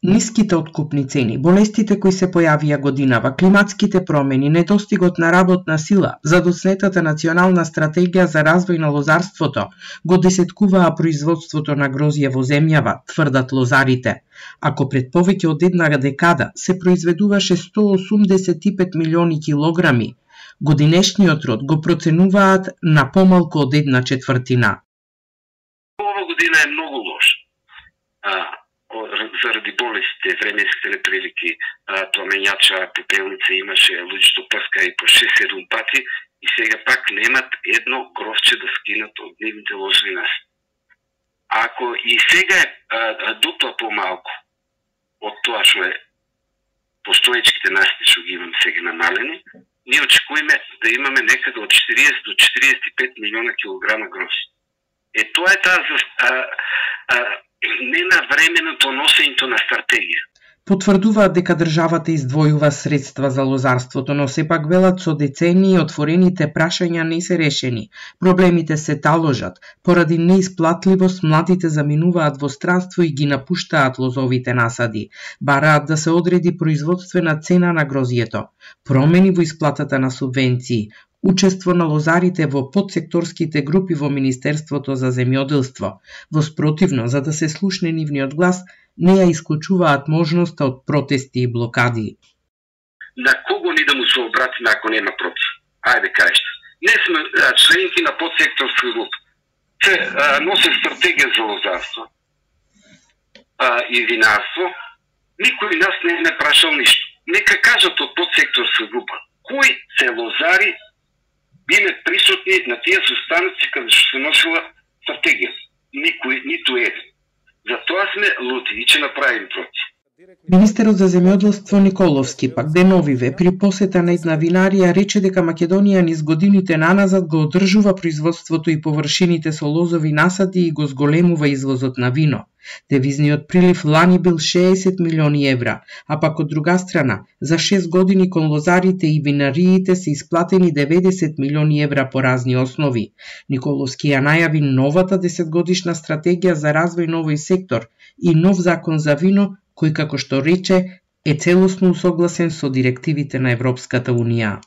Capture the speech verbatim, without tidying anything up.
Ниските откупни цени, болестите кои се појавија годинава, климатските промени, недостигот на работна сила, задоснетата национална стратегија за развој на лозарството го десеткуваа производството на грозје во земјава, тврдат лозарите. Ако пред повеќе од една декада се произведуваше сто осумдесет и пет милиони килограми, годинешниот род го проценуваат на помалку од една четвртина. Ова година е многу лош. Заради болестите, временските неприлики, пламењача, пепелница имаше, луѓето прска и по шест-седум пати и сега пак немат едно гровче да скинат од нивните лозови насади. Ако и сега е дупла помалку од тоа што е постоечките насади што ги имам сега намалени, ние очекуваме да имаме некаде од четириесет до четириесет и пет милиона килограма грозје. Е, тоа е таа не на временото носењето на стратегија. Потврдуваат дека државата издвојува средства за лозарството, но сепак велат со децении отворените прашања не се решени. Проблемите се таложат. Поради неисплатливост младите заминуваат во странство и ги напуштаат лозовите насади. Бараат да се одреди производствена цена на грозјето, промени во исплатата на субвенции, учество на лозарите во подсекторските групи во Министерството за земјоделство. Во спротивно, за да се слушне нивниот глас, не ја исклучуваат можноста од протести и блокади. На кого ни да му се обратиме ако нема против? Ајде кажете. Не сме а, членки на подсекторска група. Се а, носе стратегија за лозарство а, и винарство. Никој нас не е прашал ништо. Нека кажат од подсекторска група кои се лозари биле присутни на тие состаноци каде што се носила стратегија. Никој, ниту еден. Затоа сме лути и ќе направим против. Министерот за земјоделство Николовски пак деновиве при посета на една винарија рече дека Македонија низ годините наназад го одржува производството и површините со лозови насади и го зголемува извозот на вино. Девизниот прилив лани бил шеесет милиони евра, а пак од друга страна, за шест години кон лозарите и винариите се исплатени деветдесет милиони евра по разни основи. Николовски ја најави новата десетгодишна стратегија за развој на овој сектор и нов закон за вино, кој, како што рече, е целосно усогласен со директивите на Европската унија.